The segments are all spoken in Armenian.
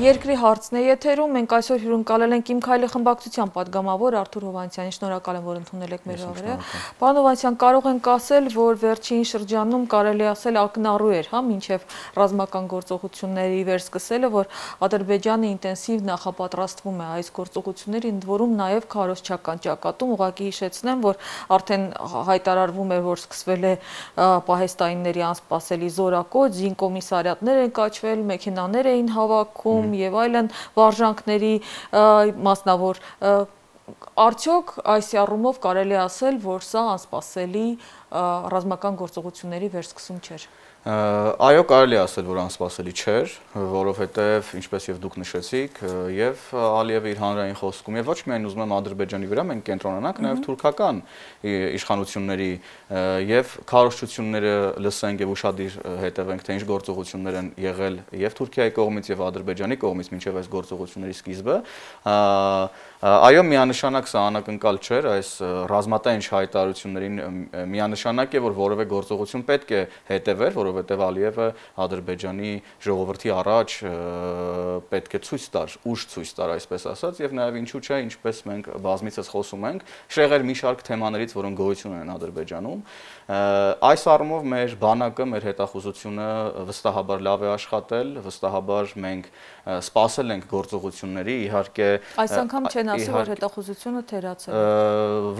Երկրի հարցն է եթերում, մենք այսօր հյուրընկալել ենք Իմ քայլի խմբակցության պատգամավոր Արթուր Հովհաննիսյանին, շնորհակալ եմ, որ ընդունել եք մեր հրավերը։ Պարոն Հովհաննիսյան, կարող ենք ասել, որ վերջին շրջանում կարելի ասել ակնառու էր, մինչև ռազմական գործողությունների վերսկսելը, որ Ադրբեջանը ինտենսիվ նախապատրաստվում է այս գործողությունների, ընդ որում նաև քարոզչական ճակատում, ուղղակի հիշեցնեմ, որ արդեն հայտարարվում էր, որ սկսվել է պահեստայինների անսպասելի զորակոչ, զինկոմիսարիատներ են կաչվել, մեքենաներ էին հավաքում եւ այլն վարժանքների մասնավոր արդյոք այս առումով կարելի ասել, որ սա անսպասելի ռազմական գործողությունների վերսկսում չէր։ Այո, կարելի ասել, որ անսպասելի չէր, որովհետև ինչպես եւ դուք նշեցիք, եւ Ալիևը իր հանրային խոսքում եւ ոչ միայն ուզում եմ Ադրբեջանի վրա մենք կենտրոնանանք, նաեւ թուրքական իշխանությունների եւ քարոզչությունները լսենք եւ ուշադիր հետևենք, թե ինչ գործողություններ են եղել եւ Թուրքիայի կողմից եւ Ադրբեջանի կողմից մինչեւ այս գործողությունների սկիզբը։ Այո, միանշանակ սա անակնկալ չէր, այս ռազմատենչ հայտարարություններին միանշանակ է, որ որևէ գործողություն պետք է հետևեր, որովհետև Ալիևը Ադրբեջանի ժողովրդի առաջ պետք է ցույց տար, ուժ ցույց տար, այսպես ասած, եւ նաեւ ինչու՞ չէ, ինչպես մենք բազմիցս խոսում ենք, շեղեր մի շարք թեմաներից, որոնք գոյություն ունեն Ադրբեջանում, այս առումով մեր բանակը, մեր հետախուզությունը վստահաբար լավ է աշխատել, վստահաբար մենք սպասել ենք գործողությունների, իհարկե այս անգամ չեն ասի, որ հետախուզությունը թերացել է։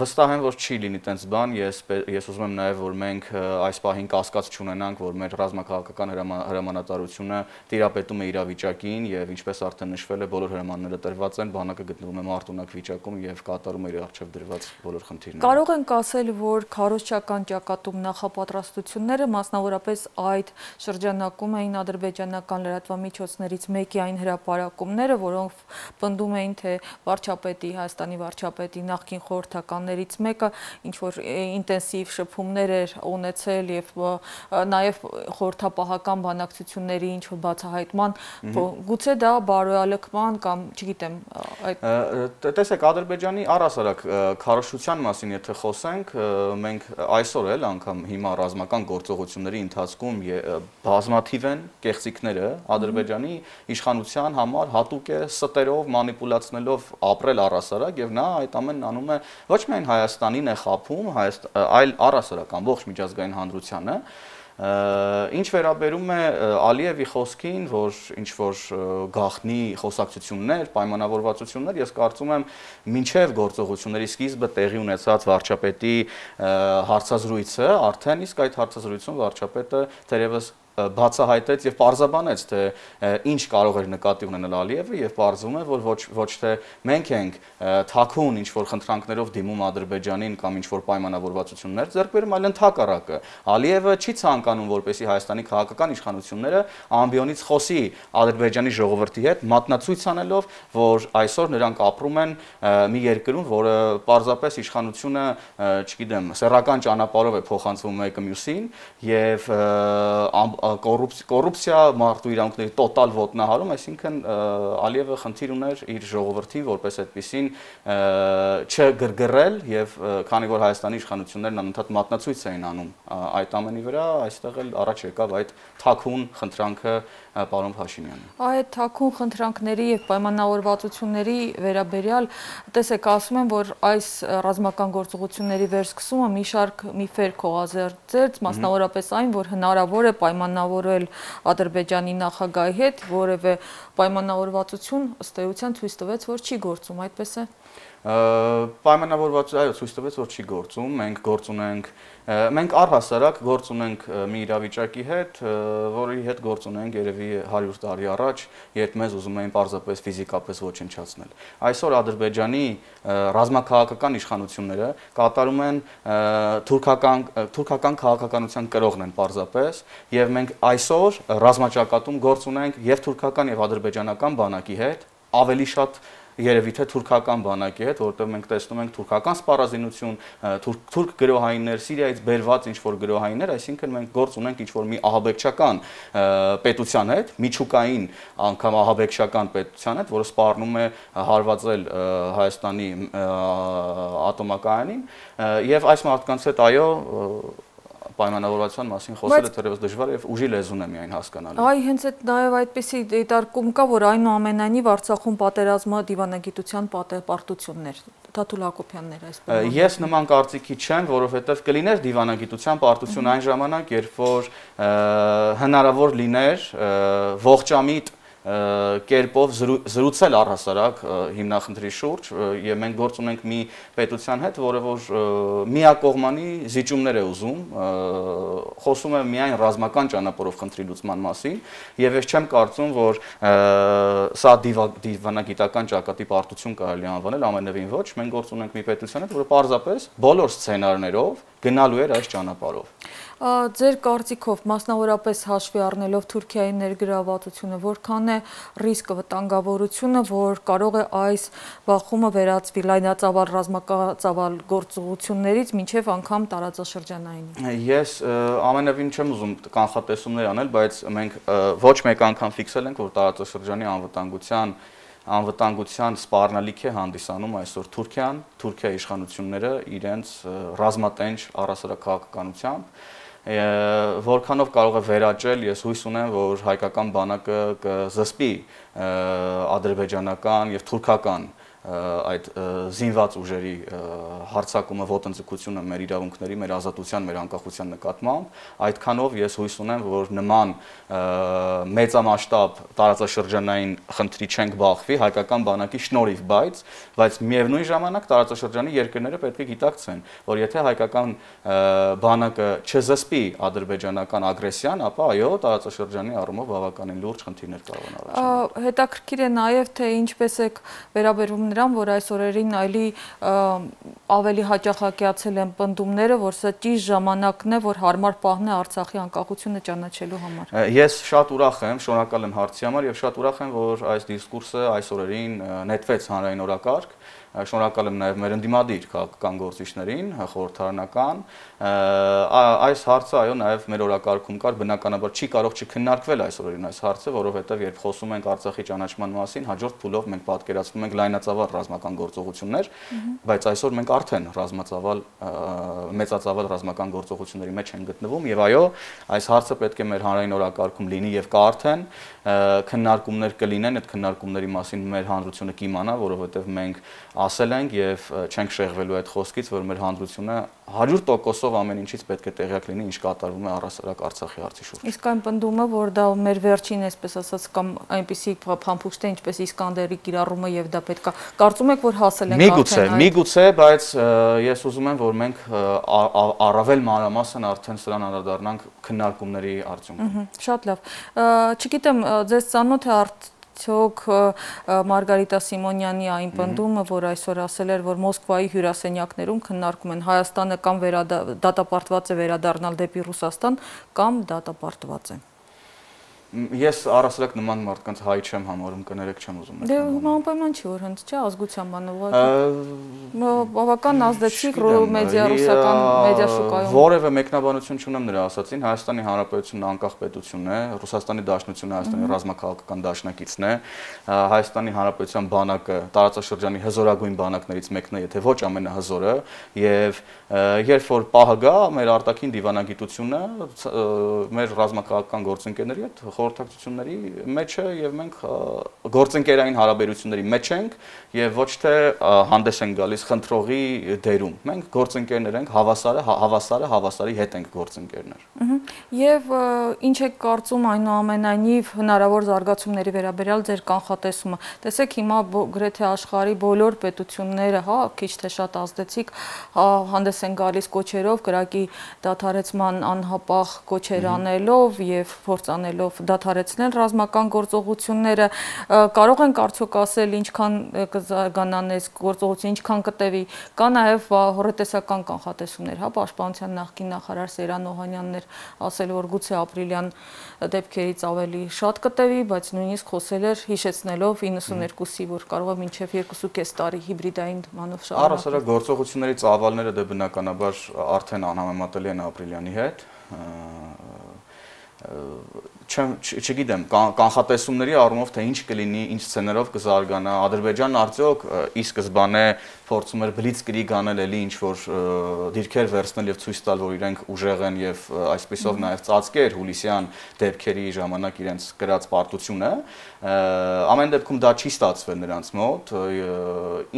Վստահ եմ, որ չի լինի տենց բան, ես ուզում եմ նաև, որ մենք այս պահին կասկած չունենանք, որ մեր ռազմաքաղաքական հրամանատարությունը տիրապետում է իրավիճակին եւ ինչպես արդեն նշվել է, բոլոր հրամանները տրված են, բանակը գտնվում է մարտունակ վիճակում եւ կատարում է իր առջեւ դրված բոլոր խնդիրները։ Կարող ենք ասել, որ քարոզչական ճակատում նախապատրաստությունները մասնավորապես այդ շրջանակում էին ադրբեջանական լրատվամիջոցներից մեկի այն հրապարակումները, որոնք պնդում էին, թե վարչապետի, Հայաստանի վարչապետի նախկին խորհրդականներից մեկը ինչ-որ ինտենսիվ շփումներ էր ունեցել եւ նաեւ խորհրդապահական բանակցությունների ինչ-որ բացահայտման, գուցե դա բարոյալքման կամ, չգիտեմ, այդ տեսեք, Ադրբեջանի առհասարակ քարոզչության մասին եթե խոսենք, մենք այսօր էլ անգամ հիմա ռազմական գործողությունների ընթացքում բազմաթիվ են կեղծիքները Ադրբեջանի իշխանության համար հատուկ է ստերով մանիպուլացնելով ապրել առհասարակ եւ նա այդ ամենն անում է ոչ միայն Հայաստանին է խափում, այլ առհասարակ ամբողջ միջազգային հանրությանը։ Ինչ վերաբերում է Ալիևի խոսքին, որ ինչ որ գաղտնի խոսակցություններ, պայմանավորվածություններ, ես կարծում եմ մինչև գործողությունների սկիզբը տեղի ունեցած վարչապետի հարցազրույցը, արդեն իսկ այդ հարցազրույցում վարչապետը թերևս բացահայտեց եւ պարզաբանեց, թե ինչ կարող էր նկատի ունենալ Ալիևը եւ պարզվում է, որ ոչ թե մենք ենք թաքուն ինչ որ խնդրանքներով դիմում Ադրբեջանին կամ ինչ որ պայմանավորվածություններ ձեռք բերում, այլ ընդհակառակը։ Ալիևը չի ցանկանում, որպեսզի Հայաստանի քաղաքական իշխանությունները ամբիոնից խոսի Ադրբեջանի ժողովրդի հետ, մատնացույց անելով, որ այսօր նրանք ապրում են մի երկրում, որը պարզապես իշխանությունը, չգիտեմ, սեռական ճանապարհով է փոխանցվում մեկը մյուսին եւ կոռուպցիա, մարդու իրավունքների տոտալ ոտնահարում, այսինքն Ալիևը խնդիր ուներ իր ժողովրդին որպես այդպեսին չգրգռել եւ քանի որ Հայաստանի իշխանություններն անընդհատ մատնացույց էին անում այդ ամենի վրա, այստեղ էլ առաջ եկավ այդ թաքուն խնդրանքը պարոն Փաշինյանը։ Այդ թաքուն խնդրանքների եւ պայմանավորվածությունների վերաբերյալ, տեսեք, ասում են, որ այս ռազմական գործողությունների վերսկսումը մի շարք միֆեր քողազերծեց, մասնավորապես այն, որ հնարավոր է պայմանավորել Ադրբեջանի նախագահի հետ, որևէ պայմանավորվածություն ըստ էության ցույց տվեց, որ չի գործում, այդպես է։ Պայմանավորվածություն, այո, ցույց տվեց, որ չի գործում, մենք առհասարակ գործ ունենք մի իրավիճակի հետ, որի հետ գործ ունենք երևի 100 տարի առաջ, երբ մեզ ուզում էին պարզապես ֆիզիկապես ոչնչացնել։ Այսօր Ադրբեջանի ռազմաքաղաքական իշխանությունները կատարում են թուրքական քաղաքականության կրողն են պարզապես, եւ մենք այսօր ռազմաճակատում գործ ունենք եւ թուրքական եւ ադրբեջանական բանակի հետ, ավելի շատ երևի թե թուրքական բանակի հետ, որտեղ մենք տեսնում ենք թուրքական սպառազինություն, թուրք գրոհայիններ, Սիրիայից բերված ինչ-որ գրոհայիններ, այսինքն մենք գործ ունենք ինչ-որ մի ահաբեկչական պետության հետ, միջուկային անգամ ահաբեկչական պետության հետ, որը սպառնում է հարվածել Հայաստանի ատոմակայանին, եւ այս մարդկանց հետ այո պայմանավորվածության մասին խոսելը թերևս դժվար է եւ ուժի լեզուն է միայն հասկանալի։ Այ հենց այդ նաեւ այդպիսի դիտարկում կա, որ այնուամենայնիվ Արցախում պատերազմը դիվանագիտության պարտություններ, Թաթուլ Հակոբյանն էր այս բանը։ Ես նման կարծիքի չեմ, որովհետեւ կլիներ դիվանագիտության պարտություն այն ժամանակ, երբ որ հնարավոր լիներ ողջամիտ կերպով զրուցել առհասարակ հիմնախնդրի շուրջ եւ մենք գործ ունենք մի պետության հետ, որը որ միակողմանի զիջումներ է ուզում, խոսում է միայն ռազմական ճանապարհով խնդրի լուծման մասին եւ ես չեմ կարծում, որ սա դիվանագիտական ճակատի պարտություն կարելի անվանել, ամենևին ոչ, մենք գործ ունենք մի պետության հետ, որը պարզապես բոլոր սցենարներով գնալու էր այս ճանապարհով։ Ձեր կարծիքով մասնավորապես հաշվի առնելով Թուրքիայի ներգրավվածությունը, որքան է ռիսկը, վտանգավորությունը, որ կարող է այս բախումը վերածվի լայնածավալ ռազմածավալ գործողություններից մինչև անգամ տարածաշրջանային։ Ես ամենևին չեմ ուզում կանխատեսումներ անել, բայց մենք ոչ մեկ անգամ ֆիքսել ենք, որ տարածաշրջանի անվտանգության սպառնալիք է հանդիսանում այսօր Թուրքիան, Թուրքիայի իշխանությունները իրենց ռազմատենչ առհասարակ քաղաքականությամբ, որքանով կարող է վերաճել, ես հույս ունեմ, որ հայկական բանակը կզսպի ադրբեջանական եւ թուրքական այդ զինված ուժերի հարձակումը, ոտնձգությունը մեր իրավունքների, մեր ազատության, մեր անկախության նկատմամբ, այդքանով ես հույս ունեմ, որ նման մեծամասշտաբ տարածաշրջանային խնդրի չենք բախվի հայկական բանակի շնորհիվ, բայց միևնույն ժամանակ տարածաշրջանի երկրները պետք է գիտակցեն, որ եթե հայկական բանակը չզսպի ադրբեջանական ագրեսիան, ապա այո, տարածաշրջանի առումով բավականին լուրջ խնդիրներ կարող են առաջանալ։ Հետաքրքիր է նաև թե ինչպես եք վերաբերվում նրան, որ այս օրերին ավելի հաճախակյացել են պնդումները, որ սա ճիշտ ժամանակն է, որ հարմար պահն է Արցախի անկախությունը ճանաչելու համար։ Ես շատ ուրախ եմ, շնորհակալ եմ հարցի համար եւ շատ ուրախ եմ, որ այս դիսկուրսը այս օրերին նետվեց հանրային օրակարգ։ Շնորհակալ եմ նաև մեր ընդդիմադիր քաղաքական գործիչներին, խորհրդարանական։ Այս հարցը այո նաև մեր օրակարգում կար, բնականաբար չի կարող չքննարկվել այս օրերին այս հարցը, որովհետև երբ խոսում ենք Արցախի ճանաչման մասին, հաջորդ փուլով մենք պատկերացնում ենք լայնածավալ ռազմական գործողություններ, բայց այսօր մենք արդեն մեծածավալ ռազմական գործողությունների մեջ ենք գտնվում եւ այո, այս հարցը պետք է մեր հանրային օրակարգում լինի եւ կա արդեն քննարկումներ կլինեն, այդ քննարկումների մասին մեր հանրությունը կիմանա, որովհետև մենք ասել ենք եւ չենք շեղվելու այդ խոսքից, որ մեր հանրությունը 100%-ով ամեն ինչից պետք է տեղյակ լինի, ինչ կատարվում է առհասարակ Արցախի հարցի շուրջ։ Իսկ այն պնդումը, որ դա մեր վերջին, այսպես ասած, կամ այնպիսի փամփուշտ է, ինչպես Իսկանդերի կիրառումը եւ դա պետքա կարծում եք, որ հասել ենք արդեն։ Միգուցե, բայց ես ուզում եմ, որ մենք առավել մանրամասն արդեն սրան անդրադառնանք քննարկումների արդյունքում։ Շատ լավ։ Չգիտեմ, ձեզ ծանոթ է արդյոք Մարգարիտա Սիմոնյանի այն պնդումը, որ այսօր ասել էր, որ Մոսկվայի հյուրասենյակներում քննարկում են Հայաստանը կամ դատապարտված է վերադառնալ դեպի Ռուսաստան, կամ դատապարտված է։ Ես առասարակ նման մարդկանց հայ չեմ համարում, կներեք չեմ ուզում։ Դե անպայման չի, որ հենց չէ, ազգության բանը բավական ազդեցիկ մեդիա ռուսական մեդիա շուկայում։ Որևէ մեկնաբանություն չունեմ նրա ասածին, Հայաստանի Հանրապետությունն անկախ պետություն է, Ռուսաստանի Դաշնությունը Հայաստանի ռազմաքաղաքական դաշնակիցն է, Հայաստանի Հանրապետության բանակը տարածաշրջանի հզորագույն բանակներից մեկն է, եթե ոչ ամենահզորը, եւ երբ որ պահը գա, մեր արտաքին դիվանագիտությունը մեր ռազմաքաղաքական գործընկերների հետ խորհրդակցությունների մեջ է եւ մենք գործընկերային հարաբերությունների մեջ ենք եւ ոչ թե հանդես ենք գալիս խնդրողի դերում։ Մենք գործընկերներ ենք, հավասարի հետ ենք գործընկերներ։ Եվ ինչ եք կարծում այնուամենայնիվ հնարավոր զարգացումների վերաբերյալ ձեր կանխատեսումը։ Տեսեք, հիմա գրեթե աշխարհի բոլոր պետությունները, հա, քիչ թե շատ ազդեցիկ հանդես են գալիս կոչերով, կրակի դադարեցման անհապաղ կոչեր անելով եւ փորձ անելով դադարեցնել ռազմական գործողությունները, կարող ենք արդյոք ասել ինչքան կզարգանան այս գործողությունը, ինչքան կտևի, կա նաև հոռետեսական կանխատեսումներ, հա, Պաշտպանության նախկին նախարար Սերան Օհանյանն էր ասել, որ գուցե ապրիլյան դեպքերից ավելի շատ կտևի, բայց նույնիսկ խոսել էր հիշեցնելով 92-ի, որ կարող է մինչև 2.5 տարի հիբրիդային մանով շարունակել։ Առհասարակ գործողությունների ծավալները դե բնականաբար արդեն անհամեմատելի են ապրիլյանի հետ։ չգիտեմ, կանխատեսումների առումով թե ինչ կլինի, ինչ սցեներով կզարգանա, Ադրբեջանն արդյոք ի սկզբանե փորձում էր բլիցկրիգ անել էլի ինչ որ դիրքեր վերցնել եւ ցույց տալ, որ իրենք ուժեղ են եւ այսպեսով նաեւ ծածկեր հուլիսյան դեպքերի ժամանակ իրենց կրած պարտությունը, ամեն դեպքում դա չի ստացվել նրանց մոտ,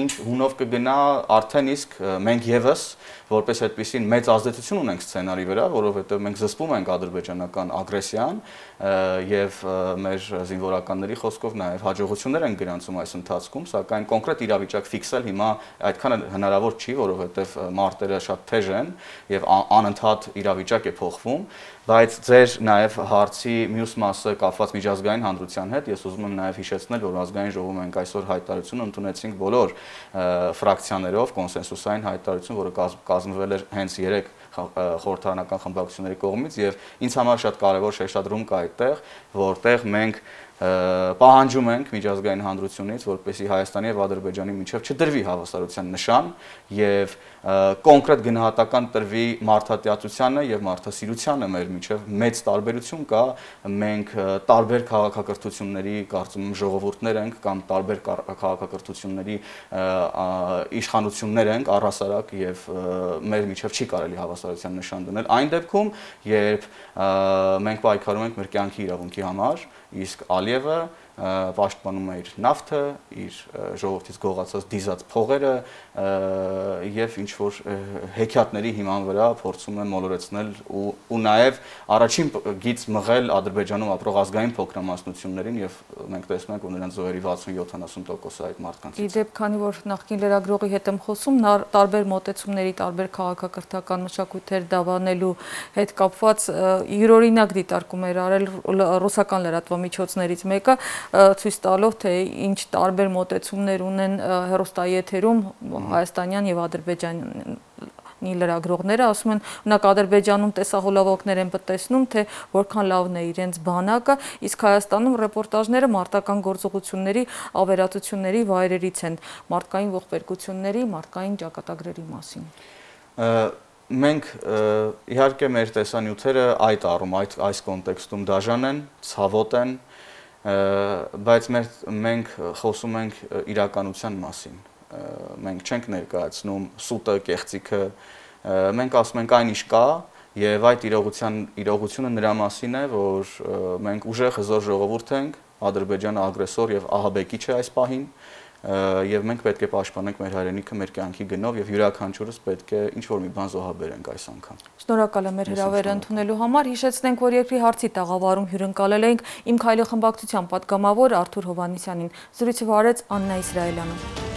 ինչ հունով կգնա արդեն իսկ մենք եւս որպես այդպեսին մեծ ազդեցություն ունենք սցենարի վրա, որովհետեւ մենք զսպում ենք ադրբեջանական ագրեսիան եւ մեր զինվորականների խոսքով նաեւ հաջողություններ են գրանցում այս ընթացքում, սակայն կոնկրետ իրավիճակ ֆիքսել հիմա այդքան հնարավոր չի, որովհետեւ մարտերը շատ թեժ են եւ անընդհատ իրավիճակ է փոխվում, բայց ձեր նաեւ հարցի մյուս մասը կապված միջազգային հանրության հետ, ես ուզում եմ նաեւ հիշեցնել, որ ազգային ժողովում մենք այսօր հայտարարություն ընդունեցինք բոլոր ֆրակցիաներով, կոնսենսուսային հայտարարություն, որը կազմվել էր հենց 3 խորհրդարանական խմբակցությունների կողմից եւ ինձ համար շատ կարեւոր շեշտադրում կա այդտեղ, որտեղ մենք պահանջում ենք միջազգային հանրությունից, որպեսզի Հայաստանի եւ Ադրբեջանի միջև չդրվի հավասարության նշան եւ կոնկրետ գնահատական տրվի մարդատիացությանը եւ մարդասիրությանը մեր միջև մեծ տարբերություն կա, մենք տարբեր քաղաքակրթությունների կարծում եմ ժողովուրդներ ենք կամ տարբեր քաղաքակրթությունների իշխանություններ ենք առհասարակ եւ մեր միջև չի կարելի հավասարության նշան դնել այն դեպքում, երբ մենք պայքարում ենք մեր կյանքի իրավունքի համար, իսկ Ալիևը պաշտպանում է իր նավթը, իր ժողովրդից գողացած դիզած փողերը եւ ինչ որ հեքիաթների հիման վրա փորձում է մոլորեցնել ու նաեւ առաջին գիծ մղել Ադրբեջանում ապրող ազգային փոքրամասնություններին եւ մենք տեսնում ենք, որ նրանց զոհերի 60-70%-ը այդ մարդկանցից։ Իդեպ, քանի որ նախկին լրագրողի հետ եմ խոսում, տարբեր մոտեցումների, տարբեր քաղաքակրթական մշակույթեր դավանելու հետ կապված յուրօրինակ դիտարկում էր արել ռուսական լրատվամիջոցներից մեկը, ցույց տալով, թե ինչ տարբեր մոտեցումներ ունեն հեռուստաեթերում հայաստանյան եւ ադրբեջանի լրագրողները, ասում են, օրինակ Ադրբեջանում տեսահոլովակներ են տեսնում, թե որքան լավն է իրենց բանակը, իսկ Հայաստանում ռեպորտաժները մարտական գործողությունների ավերածությունների վայրերից են, մարդկային ողբերգությունների, մարդկային ճակատագրերի մասին։ Մենք իհարկե մեր տեսանյութերը այդ առում, այս կոնտեքստում դաժան են, ցավոտ են, բայց մենք խոսում ենք իրականության մասին, մենք չենք ներկայացնում սուտը, կեղծիքը, մենք ասում ենք այն ինչ կա եւ այդ իրողությունը նրա մասին է, որ մենք ուժեղ հզոր ժողովուրդ ենք, Ադրբեջանը ագրեսոր եւ ահաբեկիչ է այս պահին, եւ մենք պետք է պաշտպանենք մեր հայրենիքը մեր կյանքի գնով եւ յուրաքանչյուրս պետք է ինչ-որ մի բան զոհաբերենք այս անգամ։ Շնորհակալ եմ մեր հրավերը ընդունելու համար։ Հիշեցնենք, որ երկրի հարցի տաղավարում հյուրընկալել էինք Իմ քայլը խմբակցության պատգամավոր Արթուր Հովհաննիսյանին։ Զրույցը վարեց Աննա Իսրայելյանը։